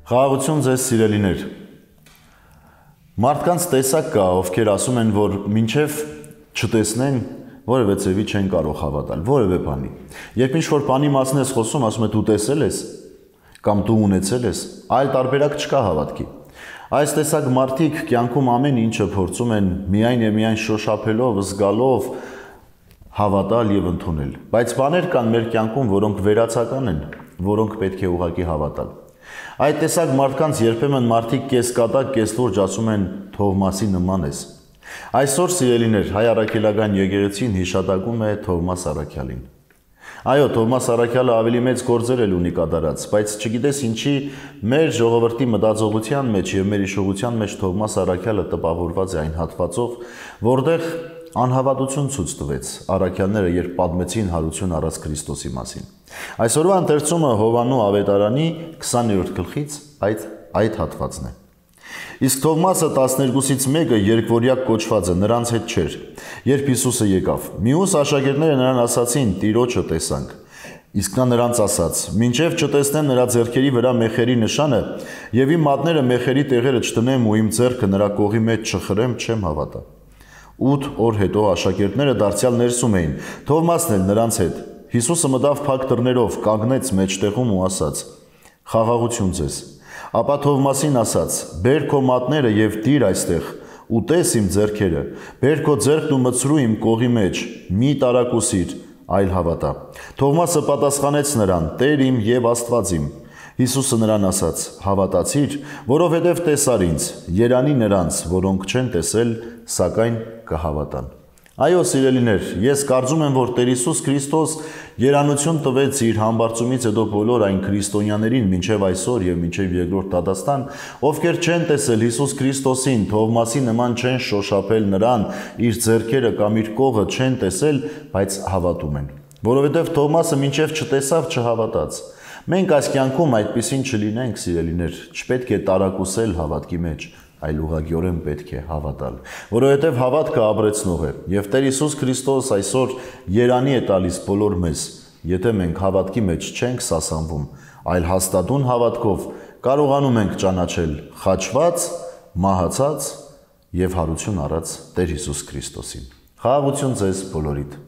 Խաղաղություն ձեզ սիրելիներ։ Մարդկանց տեսակ կա, ովքեր ասում են, որ մինչև չտեսնեն, որևէ ձևի չեն կարող հավատալ, որևէ բանի։ Երբ ինչ-որ բանի մասին ես խոսում, ասում է դու տեսել ես կամ դու ունեցել ես, այլ տարբերակ չկա հավատքի։ Այս տեսակ մարդիկ կյանքում ամեն ինչը փորձում են միայն եւ միայն շոշափելով, զգալով հավատալ եւ ընդունել։ Բայց բաներ կան մեր կյանքում, որոնք վերացական են, որոնք պետք է ուղղակի հավատալ։ Այդ տեսակ մարդկանց երբեմն մարդիկ կեսկատակ, կեսլուրջ ասում են Թովմասի նման ես։ Այսօր սիրելիներ, հայ առաքելական եկեղեցին հիշատակում է Թովմաս Առաքյալին։ Այո, Թովմաս Առաքյալը ավելի մեծ գործեր էլ ունի կատարած, բայց չգիտես ինչի մեր ժողովրդի մտածողության մեջ եւ մեր իշխողության մեջ Թովմաս Առաքյալը տպավորված է այն հատվածով, որտեղ անհավատություն ցույց տվեց առաքյալները, երբ պատմեցին հարություն առած Քրիստոսի մասին։ Այսօրվա ընթերցումը Հովաննու ավետարանի 20-րդ գլխից այդ հատվածն է։ Իսկ Թովմասը 12-ից մեկը երկվորյակ կոչված է, նրանց հետ չէր։ Երբ Հիսուսը եկավ, մյուս աշակերտները նրան ասացին. «Տիրոջը տեսանք»։ Իսկ նա նրանց ասաց. «Մինչև չտեսնեմ նրա ձեռքերի վրա մեխերի նշանը եւ իմ մատները մեխերի տեղերը չտնեմ ու իմ ձեռքը նրա կողի մեջ չխրեմ, չեմ հավատա»։ 8 օր հետո աշակերտները դարձյալ ներսում էին, Թովմասն էլ նրանց հետ։ Հիսուսը մտավ փակ դռներով, կանգնեց մեջտեղում ու ասաց. «Խաղաղություն ձեզ»։ Ապա Թովմասին ասաց. «Բեր քո մատները եւ դիր այստեղ ու տես իմ ձեռքերը, բեր քո ձեռքն ու մտցրու իմ կողի մեջ, մի տարակուսիր, այլ հավատա»։ Թովմասը պատասխանեց նրան. «Տեր իմ եւ Աստված իմ»։ Հիսուսը նրան ասաց. «Հավատացիր, որովհետև տեսար ինձ, երանի նրանց, որոնք չեն տեսել, սակայն կհավատան»։ Այո, սիրելիներ, ես կարծում եմ, որ Տեր Հիսուս Քրիստոս երանություն տվեց իր համբարձումից հետո բոլոր այն քրիստոնյաներին մինչև այսօր եւ մինչև երկրորդ դատաստան, ովքեր չեն տեսել Հիսուս Քրիստոսին, Թովմասի նման չեն շոշափել նրան, իր ձեռքերը կամ իր կողը չեն տեսել, բայց հավատում են։ Որովհետև Թովմասը մինչև չտեսավ, չհավատաց։ Մենք այս կյանքում այդպիսին չլինենք, սիրելիներ, չպետք է տարակուսել հավատքի մեջ, այլ ուղղակիորեն պետք է հավատալ, որովհետև հավատքը ապրեցնող է, եւ Տեր Հիսուս Քրիստոս այսօր երանի է տալիս բոլոր մեզ, եթե մենք հավատքի մեջ չենք սասանվում, այլ հաստատուն հավատքով կարողանում ենք ճանաչել խաչված, մահացած եւ հարություն առած Տեր Հիսուս Քրիստոսին։ Խաղաղություն ձեզ բոլորիդ։